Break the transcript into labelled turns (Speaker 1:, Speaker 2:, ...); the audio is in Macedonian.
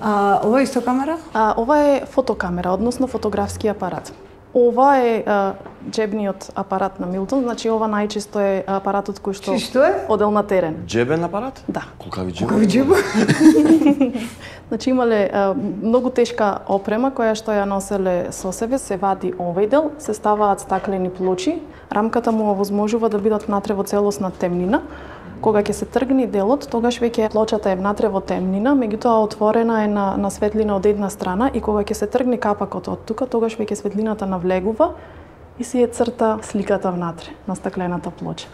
Speaker 1: Ова е исто камера?
Speaker 2: Ова е фотокамера, односно фотографски апарат. Ова е џебниот апарат на Милтон, значи ова најчесто е апаратот кој што одел на терен.
Speaker 3: Џебен апарат?
Speaker 2: Да.
Speaker 3: Колкави џеб?
Speaker 1: Колкави џеб?
Speaker 2: Значи имале многу тешка опрема која што ја носеле со себе, се вади овој дел, се ставаат стаклени плочи, рамката му овозможува да бидат внатре во целосна темнина. Кога ќе се тргне делот, тогаш веќе плочата е внатре во темнина, меѓутоа отворена е на светлина од една страна и кога ќе се тргне капакот од тука, тогаш веќе светлината навлегува и си е црта сликата внатре на стаклената плоча.